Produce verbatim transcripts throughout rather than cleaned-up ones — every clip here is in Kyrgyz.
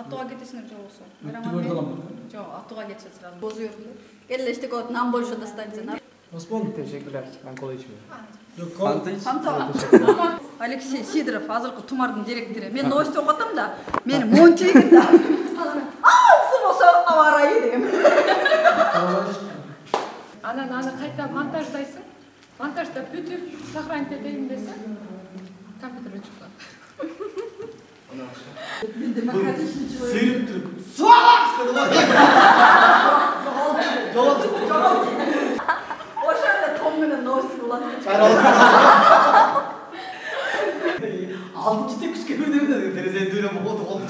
Аттууга кетесиңер же болбосо? Түгөрдө алам. Жок, аттууга кетишет. Бозу йөрүлдү. Келе иштек от, нам больше достанется. Осмон, Teşekkürler. Ben kola içmiyorum. Yok, Фанта. Алексей Сидоров, азыркы Тумардын директору. Мен новость окуп атам да, мени мончейгин да. Асы болсо аба ырайы дегем. Анан аны кайта монтаждайсың. Монтажда бүтүп, сохранить этейин десе, компьютер өчүп калат. Мен демократичный человек. Сыйрып туруп. Суак! Ошондо Том менен новость кылат. Алтынчы тек күчкө бир деп терезени дүйрөп болду болду.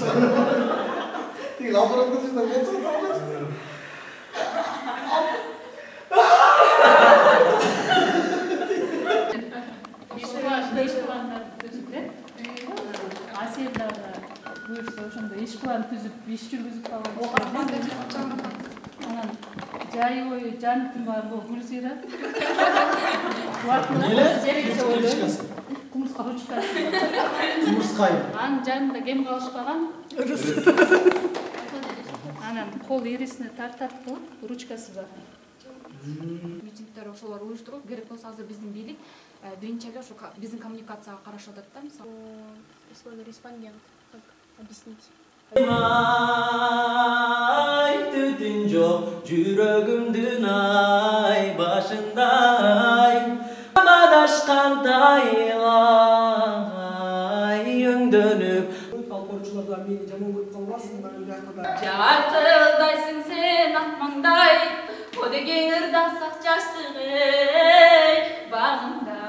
Тиги лабораторияда болду. Асияларга буюрса ошондо иш план түзүп, иш жүргүзүп калган. Анан жай бою жаныктын баары бул Гүлзира. Эле? Кумурска ручкасы. Кумурскай. Анын жанында кем калышпаган. Анан кол ирисине тартат кылып, ручкасы бар. Митингдер ошолор уюштуруп керек болсо азыр биздин бийлик биринчи эле ошо биздин коммуникацияга карашып атат да, мисалы. Слово респондент. Как объяснить? Ay tütün çok жүрөгүмдүн ай башындай Бадашкандайлай өңдөнүп Алкорчуларда мени жаман көрүп калбасын, мен жакында. Жаркылдайсың сен акмаңдай, о деген ырдасак жаштыгы багында.